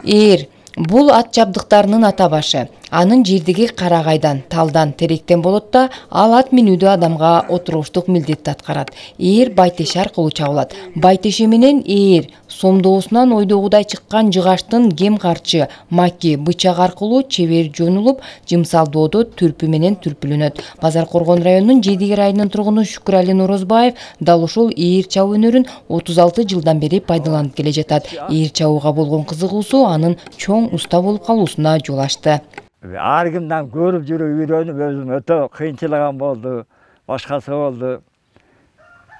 Ээр бул ат жабдыктарынын ата башы. Анын жердиги карагайдан, талдан, теректен болот да, ал ат минүүдө адамга отуруштук милдетти аткарат. Ээр байтеше аркылуу чабылат. Байтеше менен ээр сомдоосунан ойдогудай чыккан жыгаштын кем карчы, маки, бычак аркылуу чебер жонулуп, жымсалдоодо түрпү менен түрпүлөнөт. Базар Коргон районунун Жедиги айылынын тургуну Шүкүрали Норозбаев дал ушул ээр чабуу өнөрүн 36 жылдан бери пайдаланып келе жатат. Ээр чабууга болгон кызыгуусу анын чоң уста болуп калуусуна жол ачты. Ар кимден көрүп жүрүп үйрөнүп өзүм өтө кыйынчылыгым болду, башкасы болду.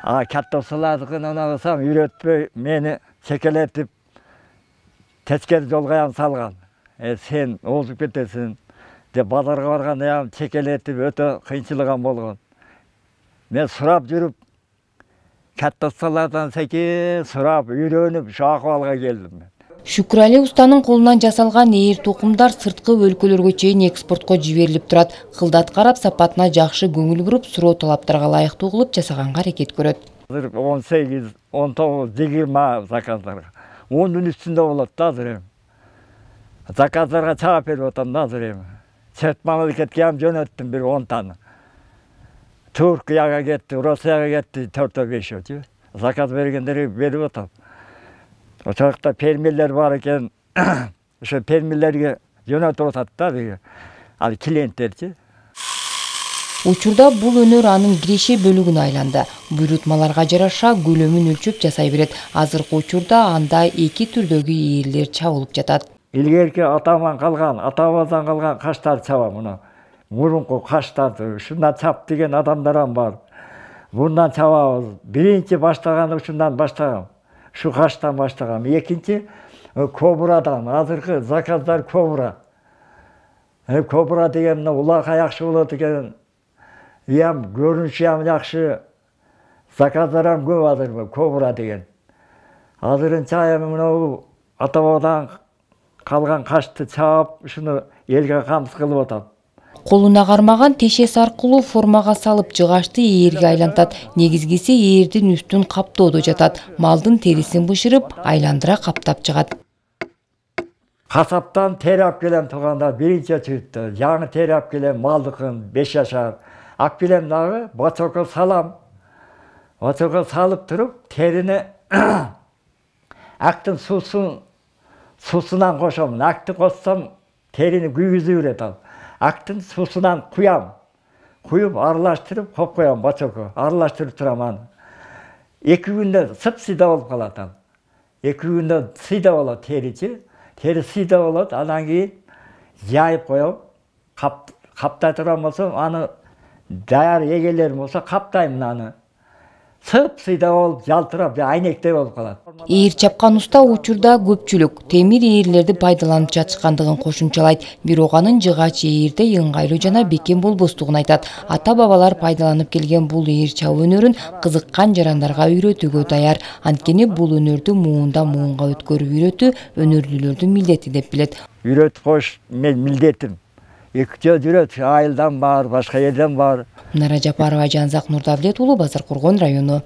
Катта усулардыкын унагысам үйрөтпөй мени чекелетип тескери жолго салган. Сен озуп кетесиң деп базарга барганда чекелетип өтө кыйынчылыгым болгон. Мен сурап жүрүп катта ustalardan sekin сурап үйрөнүп ушу акыбалга келдим. Шүкүрали устанын колунан жасалган ээр токумдар сырткы өлкөлөргө чейин экспортко жиберилип турат. Кылдат карап сапатына жакшы көңүл буруп, суроо талаптарга ылайыктуу кылып жасаганга аракет көрөт. 18, 19, 20 заказдарга. 10 үстүндө болот да азыр. Заказдарга чаап берип атам да азыр. Чет мамлекетке жөнөттүм бир 10 таны. Түркияга кетти, Россияга кетти 4-5. Заказ бергендерге берип атам. Ошоқта фермерлер бар экен, ошо фермерлерге жөнөтүп атат да, ал клиенттерчи. Учурда бул өнөр анын киреше бөлүгүнө айланды. Буйрутмаларга жараша көлөмүн өлчөп жасай берет. Азыркы учурда анда 2 түрдөгү ээрлер чабылып жатат. Илгерки атаман калган, атабаздан калган каштар чабам мына. Мурунку каштарды ушундан чап деген адамдар бар. Bundan çabamız. Birinci başlagan uşundan başlagam. Şu kaçtan başlagam. Ekinci Kobra'dan. Azırkı zakazlar Kobra. Kobra degen ulaka yakşı bolot eken. Yam görünüşü yam yakşı. Zakazlar ham көп azır Kobra degen. Azırınça yam Atabadan kalgan kaçtı çap şunu elge kamsız kılıp atam. Колуна кармаган тешес аркылуу формага салып жыгашты ээрге айлантат. Негизгиси ээрдин үстүн каптоодо жатат. Малдын терисин бышырып, айландыра каптап чыгат. Касаптан тери алып келем турганда биринчи чыгытты. Жаңы тери алып келем малдыкын 5 жашар. Алып келем дагы бачокко салам. Бачокко салып туруп терини актын суусунан кошом. Акты кошсом терини күйгүзүп берет ал. Актын суусунан куям. Куюп аралаштырып коюп коем бачокко. Аралаштырып турам аны. 2 күндө сыпсыйда болуп калат ал. 2 күндө сыйда болот теричи. Тери сыйда болот. Андан кийин жайып коем. Каптай турган болсо аны даяр эгелерим болсо каптайм аны. Сыпсыйда болуп жалтырап, айнектей болуп калат. Ээр чапкан уста учурда көпчүлүк темир ээрлерди пайдаланып жатышкандыгын кошумчалайт. Бирок анын жыгач ээрде ыңгайлуу жана бекем болбостугун айтат. Ата-бабалар пайдаланып келген бул ээр чабуу өнөрүн кызыккан жарандарга үйрөтүүгө даяр. Анткени бул өнөрдү муундан муунга өткөрүп үйрөтүү өнөрлүүлөрдүн милдети деп билет. Үйрөтүп коюш мен милдетим. Экче жүрөт, айылдан бар, башка жерден бар. Нара Жапарова, Жанзак Нурдавлет уулу, Базар Коргон району.